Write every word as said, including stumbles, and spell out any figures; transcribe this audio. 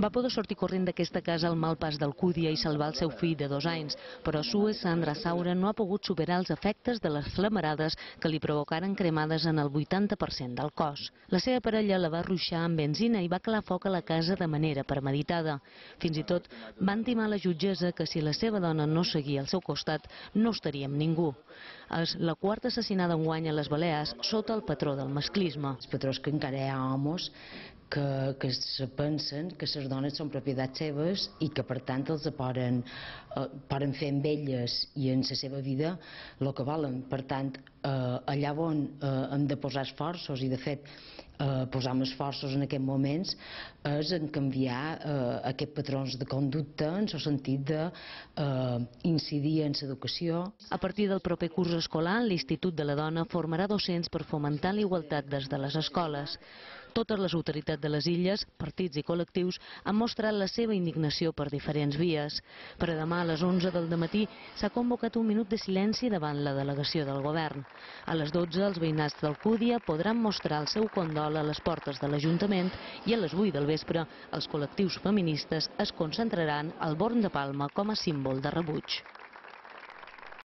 Va poder sortir corrent d'aquesta casa al mal pas d'Alcúdia i salvar el seu fill de dos anys, però Sue Sandra Saura no ha pogut superar els efectes de les flamarades que li provocaren cremades en el vuitanta per cent del cos. La seva parella la va ruixar amb benzina i va calar foc a la casa de manera premeditada. Fins i tot va intimar a la jutgessa que si la seva dona no seguia al seu costat no estaria amb ningú. És la quarta assassinada enguany a les Balears sota el patró del masclisme. El patró és que encara hi ha homes que, que se pensen que les dones són propietats seves i que per tant els poden, eh, poden fer amb elles i en la seva vida el que volen. Per tant, eh, allà on eh, hem de posar esforços i de fet eh, posar esforços en aquests moments és en canviar eh, aquests patrons de conducta en el sentit d'incidir eh, en l'educació. A partir del proper curs escolar, l'Institut de la Dona formarà docents per fomentar la igualtat des de les escoles. Totes les autoritats de les illes, partits i col·lectius han mostrat la seva indignació per diferents vies. Per a demà a les onze del dematí s'ha convocat un minut de silenci davant la delegació del govern. A les dotze els veïnats d'Alcúdia podran mostrar el seu condol a les portes de l'Ajuntament i a les vuit del vespre els col·lectius feministes es concentraran al Born de Palma com a símbol de rebuig.